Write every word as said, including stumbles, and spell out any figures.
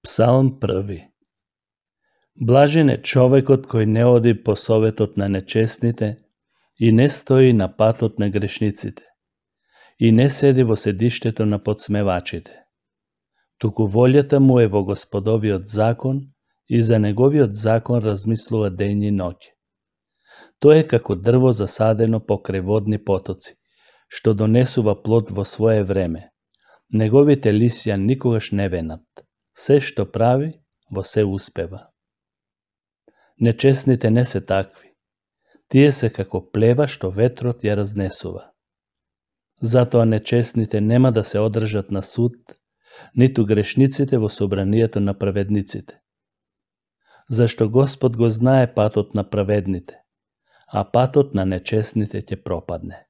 Псалм први. Блажен е човекот кој не оди по советот на нечестните и не стои на патот на грешниците и не седи во седиштето на подсмевачите. Туку волјата му е во Господовиот закон и за неговиот закон размислува ден и ноќ. Тој е како дрво засадено покрај водни потоци, што донесува плод во свое време. Неговите лисја никогаш не венат. Се што прави, во се успева. Нечестните не се такви. Тие се како плева што ветрот ја разнесува. Затоа нечестните нема да се одржат на суд, ниту грешниците во собранието на праведниците. Зашто Господ го знае патот на праведните, а патот на нечестните ќе пропадне.